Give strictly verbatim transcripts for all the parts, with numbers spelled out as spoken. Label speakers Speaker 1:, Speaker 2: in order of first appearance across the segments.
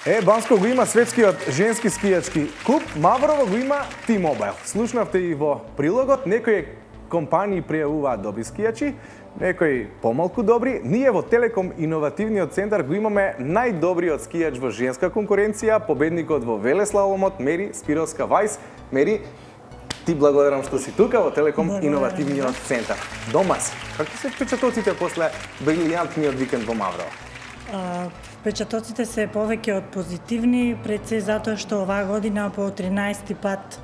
Speaker 1: Е, Банско го има светскиот женски скијачки клуб, Маврово го има T-Mobile. Слушнавте и во прилогот, некои компании пријавуваат добри скијачи, некои помалку добри. Ние во Телеком Иновативниот центар го имаме најдобриот скијач во женска конкуренција, победникот во велеслаломот Мери Спировска-Вајс. Мери, ти благодарам што си тука во Телеком Иновативниот центар. Дома си. Какви се впечатоците после брилијантниот викенд во Маврово?
Speaker 2: Впечатоците се повеќе од позитивни, пред се затоа што оваа година по тринаесети пат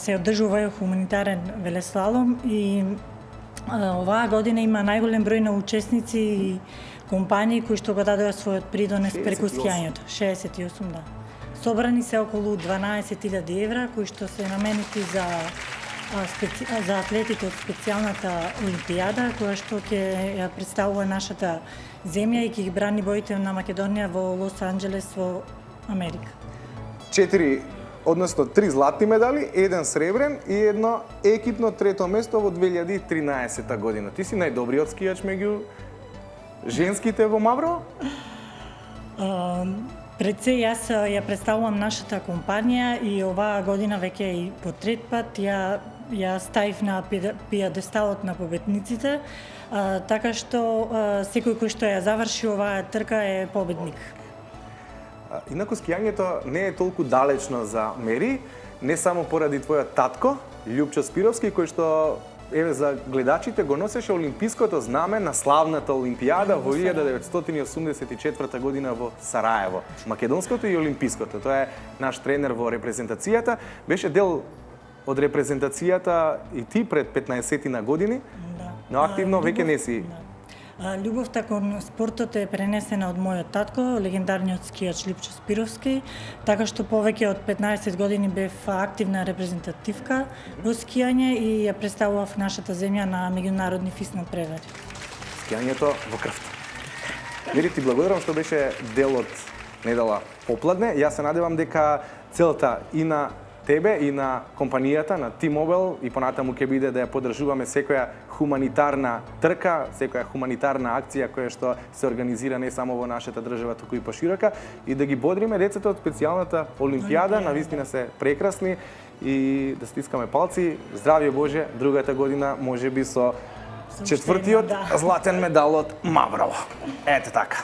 Speaker 2: се одржува хуманитарен велеслалом и оваа година има најголем број на учесници и компании кои што го дадоа својот придонес преку скијањето. шеесет и осум, да. Собрани се околу дванаесет илјади евра кои што се наменети за специ... за атлетите од специјалната олимпијада која што ќе ја представува нашата земја и ќе ги брани боите на Македонија во Лос Анџелес во Америка.
Speaker 1: Четири, односно три златни медали, еден сребрен и едно екипно трето место во две илјади и тринаесета година. Ти си најдобриот скијач меѓу женските во Маврово?
Speaker 2: Пред се јас ја представувам нашата компанија и оваа година веќе и по трет пат ја ја ставив на пијадесталот на победниците, а, така што а, секој кој што ја заврши оваа трка е победник.
Speaker 1: Инаку скијањето не е толку далечно за Мери, не само поради твојот татко, Љупчо Спировски, кој што еве за гледачите го носеше олимпиското знаме на славната олимпијада во илјада деветстотини осумдесет и четврта година во Сараево. Македонското и олимпиското. Тоа е наш тренер во репрезентацијата. Беше дел од репрезентацијата и ти пред петнаесетина години,
Speaker 2: да.
Speaker 1: Но активно а, веќе не си.
Speaker 2: Да. Љубовта кон спортот е пренесена од мојот татко, легендарниот скијач Љупчо Спировски, така што повеќе од петнаесет години бев активна репрезентативка во скијање и ја представував нашата земја на меѓународни фиснал превари.
Speaker 1: Скијањето во крвта. Мери, ти благодарам што беше дел од недела попладне. Јас се надевам дека целта и на тебе и на компанијата, на T-Mobile и понатаму ќе биде да ја поддржуваме секоја хуманитарна трка, секоја хуманитарна акција која што се организира не само во нашата држава, туку и поширока, и да ги бодриме децата од специјалната олимпијада, навистина се прекрасни и да стискаме палци. Здравје Боже, другата година можеби со четвртиот златен медал од Маврово. Ете така.